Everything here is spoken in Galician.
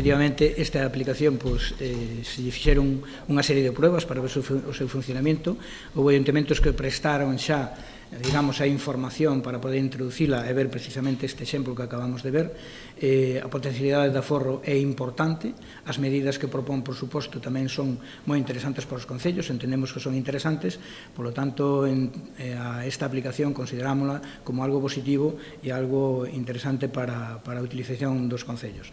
efectivamente, esta aplicación se lle fixeron unha serie de pruebas para ver o seu funcionamento. Houve ayuntamentos que prestaron xa, digamos, a información para poder introducila e ver precisamente este exemplo que acabamos de ver. A potencialidade de aforro é importante, as medidas que propón, por suposto, tamén son moi interesantes para os concellos, entendemos que son interesantes, polo tanto, esta aplicación considerámola como algo positivo e algo interesante para a utilización dos concellos.